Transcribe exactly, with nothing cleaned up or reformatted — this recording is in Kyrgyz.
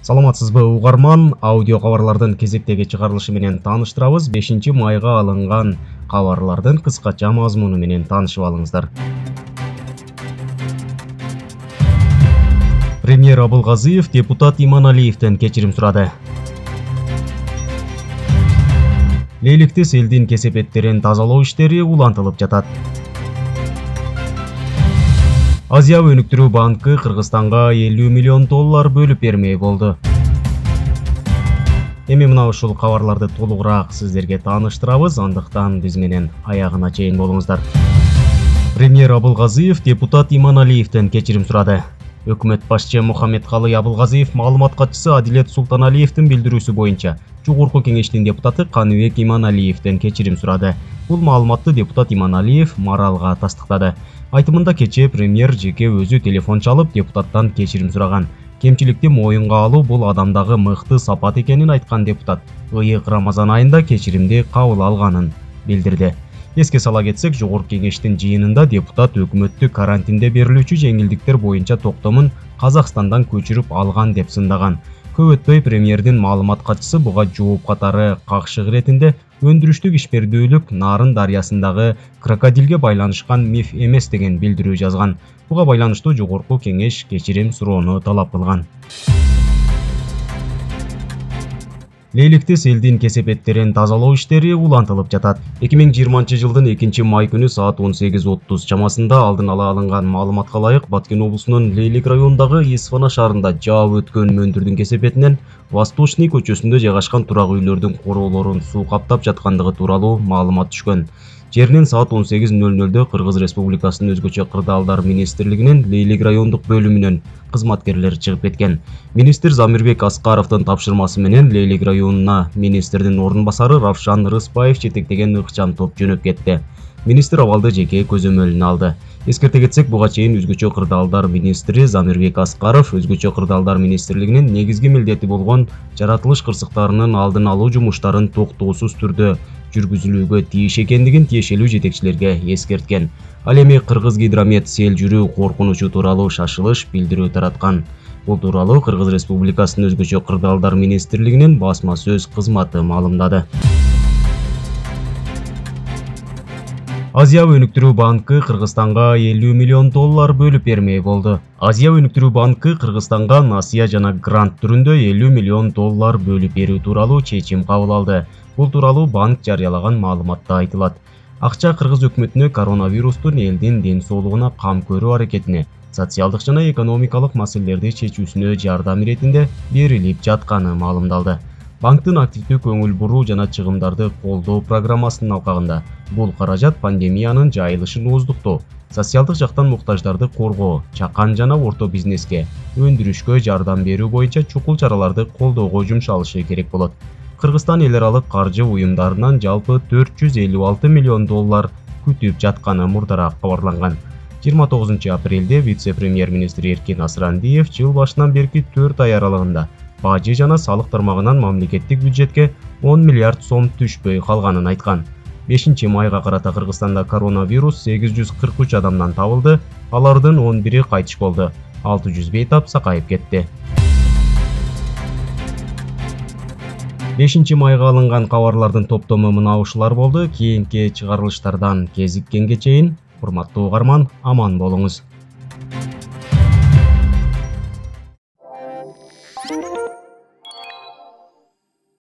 Саламатсызбы угарман, аудио кабарлардын кезектеги чыгарылышы менен тааныштырабыз. бешинчи майга алынган кабарлардын кыскача мазмуну менен таанышып алыңыздар. Премьер Абылгазиев депутат Иманалиевден кечирим сурады. Лейликти селдин кесепеттерин тазалоо иштери улантылып жатат. Азия өнүктүрүү банкы Кыргызстанга элүү миллион доллар бөлүп бермей болду. Эми мына ушул кабарларды толугураак сиздерге тааныштырабыз, андыктан биз менен аягына чейин болуңуздар. Премьер Абылгазиев депутат Иманалиевден кечирим сурады. Өкмөт башчы Мухаммедкалый Абылгазиев маалымат катчысы Адилет Султаналиевдин билдирүүсү боюнча Жогорку кеңештин депутаты Каныбек Иманалиевден кечирим сурады. Бул маалыматты депутат Иманалиев Маралга тастыктады. Айтымында кечээ премьер жеке өзү телефон чалып депутаттан кечирим сураган. Кемчиликти моюнга алуу бул адамдагы мыкты сапат экенин айткан депутат ыйык Рамазан айында кечиримди кабыл алганын билдирди. Эске сала кетсек, Жогорку кеңештин жыйынында депутат өкмөттү карантинде берилүүчү жеңилдиктер боюнча токтомун Казакстандан көчүрүп алган деп сындаган. Көп өтпөй премьердин маалымат катчысы буга жооп катары какшык иретинде өндүрүштүк ишмердүүлүк Нарын дарыясындагы крокодилге байланышкан миф эмес деген билдирүү жазган. Буга байланыштуу Жогорку кеңеш кечирим суроону талап кылган. Лейликти селдин кесепеттерин тазалоо иштери улантылып жатат. эки миң жыйырманчы жылдын экинчи май күнү саат он сегиз отуз чамасында алдын ала алынган маалыматка ылайык Баткен облусунун Лейлик районундагы Исфана шаарында жаап өткөн мөндүрдүн кесепетинен Восточный көчөсүндө жайгашкан турак үйлөрдүн короолорун суу каптап жаткандыгы тууралуу маалымат түшкөн. Жеринен саат он сегиз нөл нөлдө Кыргыз Республикасынын өзгөчө кырдаалдар министрлигинин Лейлик райондук бөлүмүнөн кызматкерлер чыгып кеткен. Министр Замирбек Аскаровдун тапшырмасы менен Лейлик районуна министрдин орун басары Равшан Рыспаев жетектеген ыкчам топ жөнөп кетти. Министр абалды жеке көзөмөлүнө алды. Эскерте кетсек, буга чейин өзгөчө кырдаалдар министри Замирбек Аскаров өзгөчө кырдаалдар министрлигинин негизги милдети болгон жаратылыш кырсыктарынын алдын алуу жумуштарын токтоосуз түрдө жүргүзүлүүгө тийиш экендигин тиешелүү жетекчилерге эскерткен. Ал эми Кыргыз Гидромет сел жүрүү коркунучу тууралуу шашылыш билдирүү тараткан. Бул тууралуу Кыргыз Республикасынын өзгөчө кырдаалдар министрлигинин басма сөз кызматы маалымдады. Азия өнүктүрүү банкы Кыргызстанга элүү миллион доллар бөлүп бермей болду. Азия өнүктүрүү банкы Кыргызстанга насыя жана грант түрүндө элүү миллион доллар бөлүп берүү тууралуу чечим кабыл алды. Бул тууралуу банк жарыялаган маалыматта айтылат. Акча Кыргыз өкмөтүнө коронавирустун элдин ден соолугуна кам көрүү аракетине, социалдык жана экономикалык маселелерди чечүүсүнө жардам иретинде берилип жатканы маалымдалды. Банктын активдүү көңүл буруу жана чыгымдарды колдоо программасынын алкагында бул каражат пандемиянын жайылышын ооздуктоо, социалдык жактан муктаждарды коргоо, чакан жана орто бизнеске, өндүрүшкө жардам берүү боюнча чукул чараларды колдоого жумшалышы керек болот. Кыргызстан эл аралык каржы уюмдарынан жалпы төрт жүз элүү алты миллион доллар күтүп жатканы мурдараак кабарланган. жыйырма тогузунчу апрелде вице-премьер-министр Эркин Асрандиев жыл башынан берки төрт ай аралыгында бажы жана салык тармагынан мамлекеттик бюджетке он миллиард сом түшпөй калганын айткан. бешинчи майга карата Кыргызстанда коронавирус сегиз жүз кырк үч адамдан табылды, алардын он бири кайтыш болду, алты жүз бейтап сакайып кетти. бешинчи майга алынган кабарлардын топтому мына ушулар болду. Кийинки чыгарылыштардан кезиккенге чейин урматтуу угарман, аман болуңуз.